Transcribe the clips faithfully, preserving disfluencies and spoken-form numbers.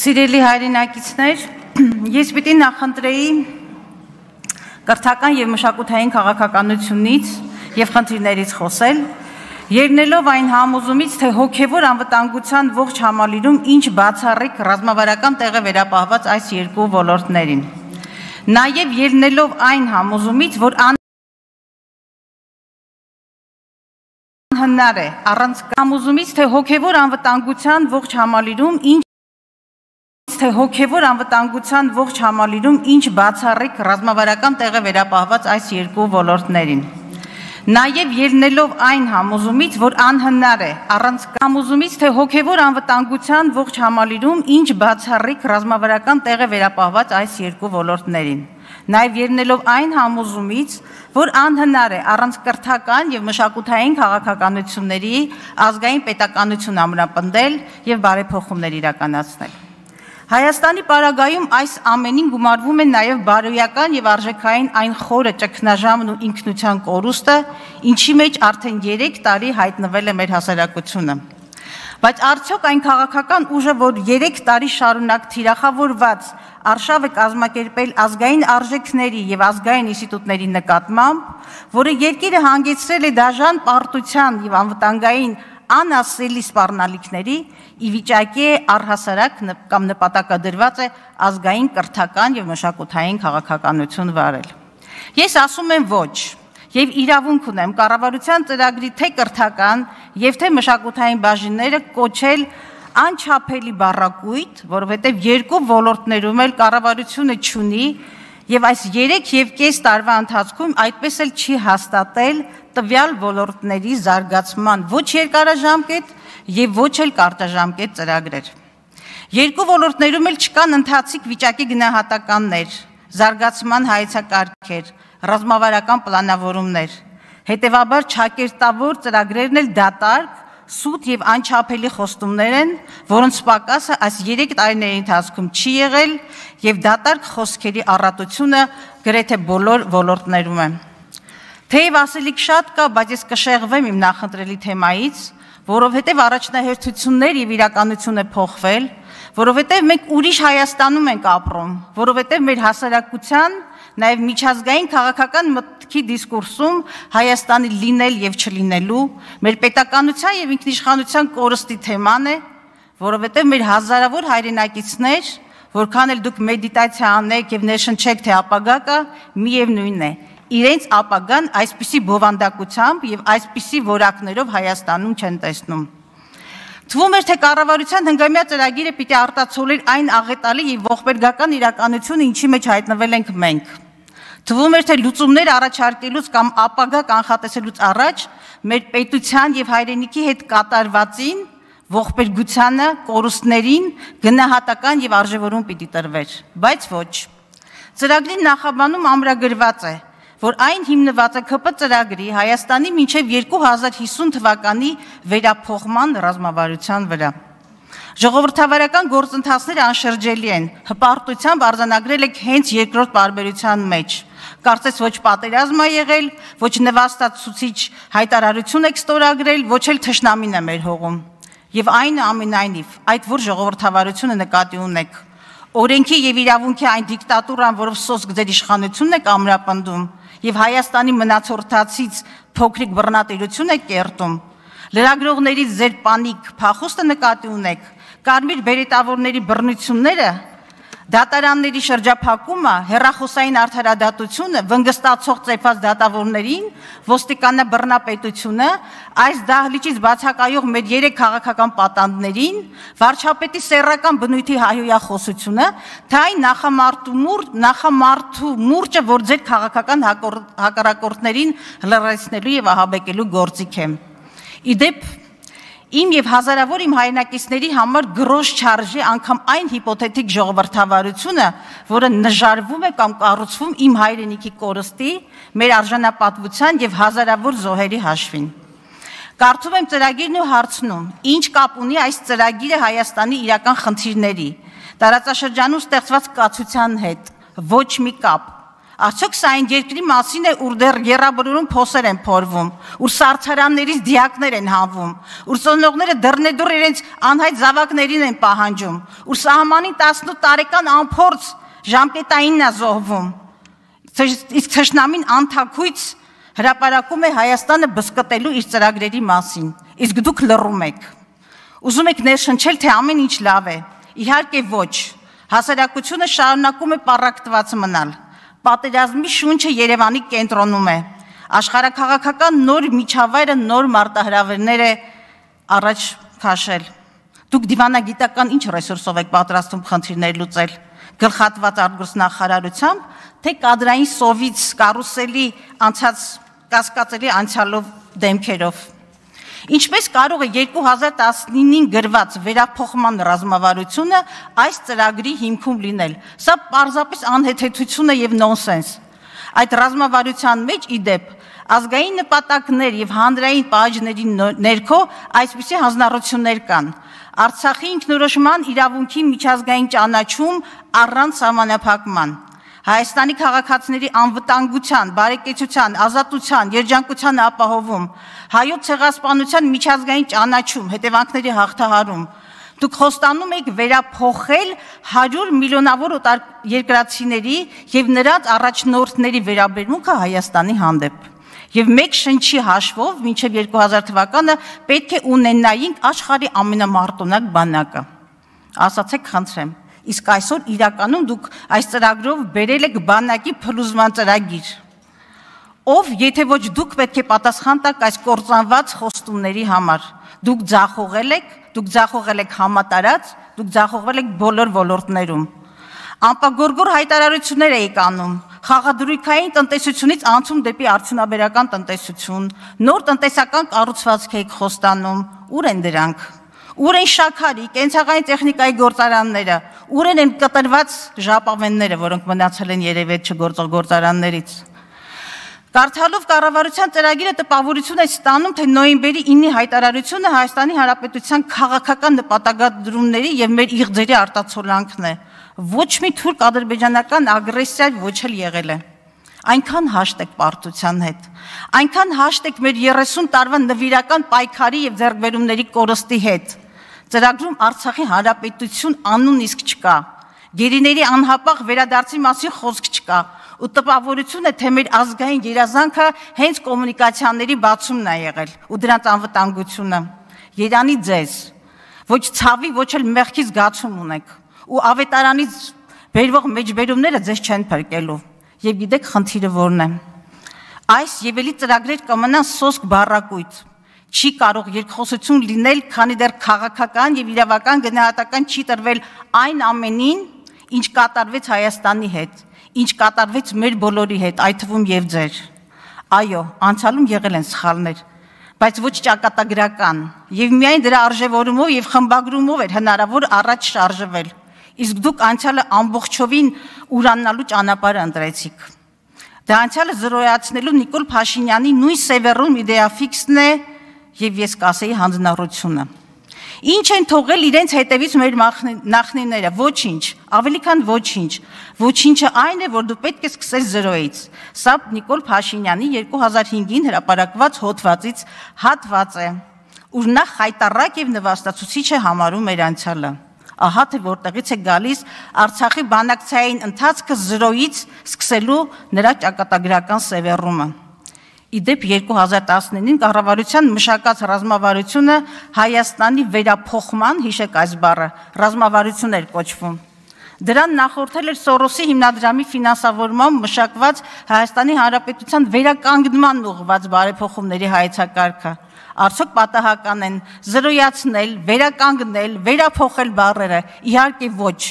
Սիրելի հայրենակիցներ, ես պիտի նախընտրեի կրթական և մշակութային քաղաքականությունից և խնդիրներից խոսել, ելնելով այն համոզումից, թե հոգևոր անվտանգության ողջ համալիրում ինչ բացառիկ ռազմավարական տեղ է վերապահված այս երկու ոլորտներին, նաև ելնելով այն համոզումից, որ անհնար է առանց համոզումից, թե հոգևոր անվտանգության ողջ համալիրում ինչ թե հոգևոր անվտանգության ողջ համալիրում ինչ բացառիկ ռազմավարական տեղ է վերապահված այս երկու ոլորտներին, նաև ելնելով այն համոզումից, որ անհնար է առանց համոզումից, թե հոգևոր անվտանգության ողջ համալիրում ինչ բացառիկ ռազմավարական տեղ է վերապահված այս երկու ոլորտներին, նաև ելնելով այն համոզումից, որ անհնար է առանց կրթական և մշակութային քաղաքականությունների ազգային պետականություն ամրապնդել և բարեփոխումներ իրականացնել։ Հայաստանի պարագայում այս ամենին գումարվում է նաև բարոյական և արժեքային այն խորը ճգնաժամն ու ինքնության կորուստը, ինչի մեջ արդեն երեք տարի հայտնվել է մեր հասարակությունը։ Բայց արդյոք այն քաղաքական ուժը, որ երեք տարի շարունակ թիրախավորված արշավ է կազմակերպել ազգային արժեքների և ազգային ինստիտուտների նկատմամբ, որը երկիրը հանգեցրել է դաժան պարտության և անվտանգային անասելի սպառնալիքների, ի վիճակի է առհասարակ կամ նպատակադրված է ազգային կրթական և մշակութային քաղաքականություն վարել։ Ես ասում եմ ոչ, և իրավունք ունեմ կառավարության ծրագրի թե կրթական և թե մշակութային բաժինները կոչել անչափելի բառակույտ, որովհետև երկու ոլորտներում էլ կառավարությունը չունի և այս երեք և կես տարվա ընթացքում այդպես էլ չի հաստատել տվյալ ոլորտների զարգացման ոչ երկարաժամկետ և ոչ էլ կարճաժամկետ ծրագրեր։ Երկու ոլորտներում էլ չկան ընթացիկ վիճակի գնահատականներ, զարգացման հայեցակարգեր, ռազմավարական պլանավորումներ, հետևաբար ճակերտավոր ծրագրերն էլ դատարկ, սուտ և անչափելի խոստումներ են, որոնց պակասը այս երեք տարիների ընթացքում չի եղել և դատարկ խոսքերի առատությունը գրեթե բոլոր ոլորտներում է։ Թեև ասելիք շատ կա, բայց ես կշեղվեմ իմ նախընտրելի թեմայից, որովհետև առաջնահերթություններ և իրականություն է փոխվել, որովհետև մենք ուրիշ Հայաստանում ենք ապրում, որովհետև մեր հասարակության, նաև միջազգային քաղաքական մտքի դիսկուրսում Հայաստանի լինել և չլինելու, մեր պետականության և ինքնիշխանության կորստի թեման է, որովհետև մեր հազարավոր հայրենակիցներ, որքան էլ դուք մեդիտացիա անեք և ներշնչեք, թե ապագա կա, միևնույն է, իրենց ապագան այսպիսի բովանդակությամբ և այսպիսի որակներով Հայաստանում չեն տեսնում։ Թվում էր, թե կառավարության հնգամյա ծրագիրը պիտի արտացոլեր այն աղետալի և ողբերգական իրականությունը, ինչի մեջ հայտնվել ենք մենք։ Թվում էր, թե լուծումներ առաջարկելուց կամ ապագա կանխատեսելուց առաջ մեր պետության և հայրենիքի հետ կատարվածին, ողբերգությանը, կորուստներին գնահատական և արժևորում պիտի տրվեր, բայց ոչ։ Ծրագրի նախաբանում ամրագրված է, որ այն հիմնված է ՔՊ ծրագրի Հայաստանի մինչև երկու հազար հիսուն թվականի վերափոխման ռազմավարության վրա։ Ժողովրդավարական գործընթացները անշրջելի են, հպարտությամբ արձանագրել եք հենց երկրորդ պարբերության մեջ։ Կարծես ոչ պատերազմ է եղել, ոչ նվաստացուցիչ հայտարարություն եք ստորագրել, ոչ էլ թշնամին է մեր հողում։ Եվ այնուամենայնիվ, այդ որ ժողովրդավարությունը նկատի ունեք, օրենքի և իրավունքի այն դիկտատուրան, որով սոսկ ձեր իշխանությունն եք ամրապնդում, և Հայաստանի մնացորդացից փոքրիկ բռնատիրություն եք կերտում, լրագրողներից ձեր պանիկ փախուստը նկատի ունեք, կարմիր բերետավորների բռնությունները, դատարանների շրջափակումը, հեռախոսային արդարադատությունը, վնգստացող ծեփած դատավորներին, ոստիկանաբռնապետությունը, այս դահլիճից բացակայող մեր երեք քաղաքական պատանդներին, վարչապետի սեռական բնույթի հայհոյախոսությունը, թե այն նախամարդու մուրճը, որ ձեր քաղաքական հակառակորդներին լրացնելու և ահաբեկելու գործիք է։ Իդեպ, իմ և հազարավոր իմ հայրենակիցների համար գրոշ չարժի անգամ այն հիպոթետիկ ժողովրդավարությունը, որը նժարվում է կամ կառուցվում իմ հայրենիքի կորստի, մեր արժանապատվության և հազարավոր զոհերի հաշվին։ Կարդում եմ ծրագիրն ու հարցնում, ինչ կապ ունի այս ծրագիրը Հայաստանի իրական խնդիրների, տարածաշրջանում ստեղծված կացության հետ, ոչ մի կապ։ Արդյոք սա այն երկրի մասին է, ուր դեռ եռաբրուրում փոսեր են փորվում, ուր սարցարաններից դիակներ են հանվում, ուր ծնողները դռնեդուռ իրենց անհայտ զավակներին են պահանջում, ուր սահմանին տասնութ տարեկան անփորձ ժամկետայինն է զոհվում, իսկ թշնամին անթաքույց հրապարակում է Հայաստանը բզկտելու իր ծրագրերի մասին, իսկ դուք լռում եք, ուզում եք ներշնչել, թե ամեն ինչ լավ է, իհարկե ոչ, հասարակությունը շարունակում է պառակտված մնալ, պատերազմի շունչը Երևանի կենտրոնում է, աշխարհաքաղաքական նոր միջավայրը նոր մարտահրավերներ է առաջ քաշել, դուք դիվանագիտական ինչ ռեսուրսով եք պատրաստում խնդիրներ լուծել, գլխատված արտգործնախարարությամբ, թե կադրային սովից կարուսելի անցած կասկածելի անցյալով դեմքերով, ինչպես կարող է երկու հազար տասնինին գրված վերափոխման ռազմավարությունը այս ծրագրի հիմքում լինել, սա պարզապես անհեթեթություն է և նոնսենս, այդ ռազմավարության մեջ ի դեպ ազգային նպատակներ և հանրային պահանջների ներքո այսպիսի հանձնառություններ կան, Արցախի ինքնորոշման իրավունքի միջազգային ճանաչում առանց սահմանափակման, Հայաստանի քաղաքացիների անվտանգության, բարեկեցության, ազատության, երջանկության ապահովում, հայոց ցեղասպանության միջազգային ճանաչում, հետևանքների հաղթահարում, դուք խոստանում եք վերափոխել հարյուր միլիոնավոր երկրացիների և նրանց առաջնորդների վերաբերմունքը Հայաստանի հանդեպ, և մեկ շնչի հաշվով մինչև երկու հազար թվականը պետք է ունենայինք աշխարհի ամենամարտունակ բանակը, ասացեք խնդրեմ, իսկ այսօր իրականում դուք այս ծրագրով բերել եք բանակի փլուզման ծրագիր, ով եթե ոչ դուք պետք է պատասխան տաք այս կործանված խոստումների համար, դուք ձախողել եք, դուք ձախողել եք համատարած, դուք ձախողվել եք բոլոր ոլորտներում, անպագորգոր հայտարարություններ եք անում, խաղադրույքային տնտեսությունից անցում դեպի արդյունաբերական տնտեսություն, նոր տնտեսական կառուցվածք եք խոստանում, ուր են դրանք, ուր են շաքարի, կենցաղային տեխնիկայի գործարանները, ուր են կտրված ժապավենները, որոնք մնացել են երևետ չգործող գործարաններից, Կարդալով կառավարության ծրագիրը տպավորություն է ստանում, թե նոյեմբերի ինի հայտարարությունը Հայաստանի Հանրապետության քաղաքական նպատակադրումների և մեր իղձերի արտացոլանքն է, ոչ մի թուրք ադրբեջանական ագրեսիա ոչ էլ եղել է, այնքան հաշտ եք պարտության հետ, այնքան հաշտ եք մեր երեսուն տարվա նվիրական պայքարի և ձեռքբերումների կորստի հետ, ծրագրում Արցախի Հանրապետություն անուն իսկ չկա, գերիների անհապաղ վերադարձի մասին խոսք չկա, ու տպավորություն է, թե մեր ազգային երազանքը հենց կոմունիկացիաների բացումն է եղել ու դրանց անվտանգությունը, երանի ձեզ, ոչ ցավի, ոչ էլ մեղքի զգացում ունեք ու ավետարանից բերվող մեջբերումները ձեզ չեն փրկելու և գիտեք խնդիրը որն է, այս և էլի ծրագրեր կմնան սոսկ բառակույտ, չի կարող երկխոսություն լինել, քանի դեռ քաղաքական և իրավական գնահատական չի տրվել այն ամենին, ինչ կատարվեց Հայաստանի հետ, ինչ կատարվեց մեր բոլորի հետ, այդ թվում և ձեր, այո, անցյալում եղել են սխալներ, բայց ոչ ճակատագրական և միայն դրա արժևորումով և խմբագրումով էր հնարավոր առաջ շարժվել, իսկ դուք անցյալը ամբողջովին ուրանալու ճանապարհը ընտրեցիք, դա անցյալը զրոյացնելու Նիկոլ Փաշինյանի նույն սևեռուն իդեաֆիքսն է և ես կասեի հանձնառությունը, ինչ են թողել իրենց հետևից մեր նախնիները, ոչինչ, ավելի քան ոչինչ, ոչինչը այն է, որ դու պետք է սկսես զրոյից, սա Նիկոլ Փաշինյանի երկու հազար հինգին հրապարակված հոդվածից հատված է, ուր նա խայտառակ և նվաստացուցիչ է համարում մեր անցյալը, ահա թե որտեղից է գալիս Արցախի բանակցային ընթացքը զրոյից սկսելու նրա ճակատագրական սևեռումը, իդեպ երկու հազար տասնինին կառավարության մշակած ռազմավարությունը Հայաստանի վերափոխման, հիշեք այս բառը, ռազմավարություն էր կոչվում, դրան նախորդել էր Սորոսի հիմնադրամի ֆինանսավորմամբ մշակված Հայաստանի Հանրապետության վերականգնման ուղղված բարեփոխումների հայեցակարգը, արդյոք պատահական են զրոյացնել, վերականգնել, վերափոխել բառերը, իհարկե ոչ,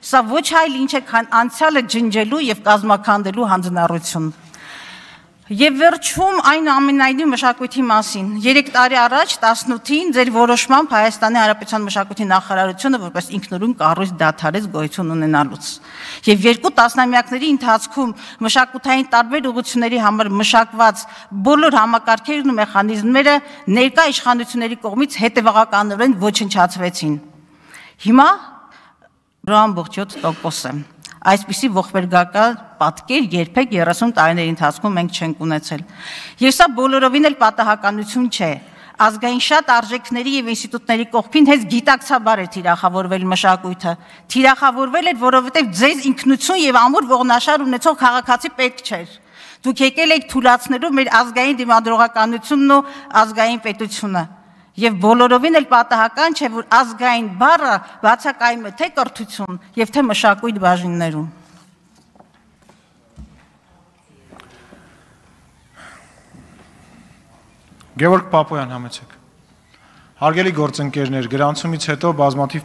սա ոչ այլ ինչ է, քան անցյալը ջնջելու և կազմաքանդելու հանձնառություն, Եվ վերջում այն ամենայնիվ մշակույթի մասին, երեք տարի առաջ տասնութին ձեր որոշմամբ Հայաստանի Հանրապետության մշակույթի նախարարությունը որպես ինքնուրույն կառույց դադարեց գոյություն ունենալուց, և երկու տասնամյակների ընթացքում մշակութային տարբեր ուղղությունների համար մշակված բոլոր համակարգերն ու մեխանիզմները ներկա իշխանությունների կողմից հետևողականորեն ոչնչացվեցին, հիմա ամբողջ յոթ տոկոս է, Այսպիսի ողբերգական պատկեր երբեք երեսուն տարիների ընթացքում մենք չենք ունեցել։ Եվ սա բոլորովին էլ պատահականություն չէ։ Ազգային շատ արժեքների եւ ինստիտուտների կողքին հենց գիտակցաբար է թիրախավորվել մշակույթը։ Թիրախավորվել էր, որովհետեւ ձեզ ինքնություն եւ ամուր ողնաշար ունեցող քաղաքացի պետք չէր։ Դուք եկել եք թույլատնելու մեր ազգային դիմադրողականությունն ու ազգային պետությունը։ Եվ բոլորովին էլ պատահական չէ, որ ազգային բառը բացակայում է թե կրթություն եւ թե մշակույթ բաժիններում։ Գևորգ Պապոյան, համեցեք։ Հարգելի գործընկերներ, գրանցումից հետո բազմաթիվ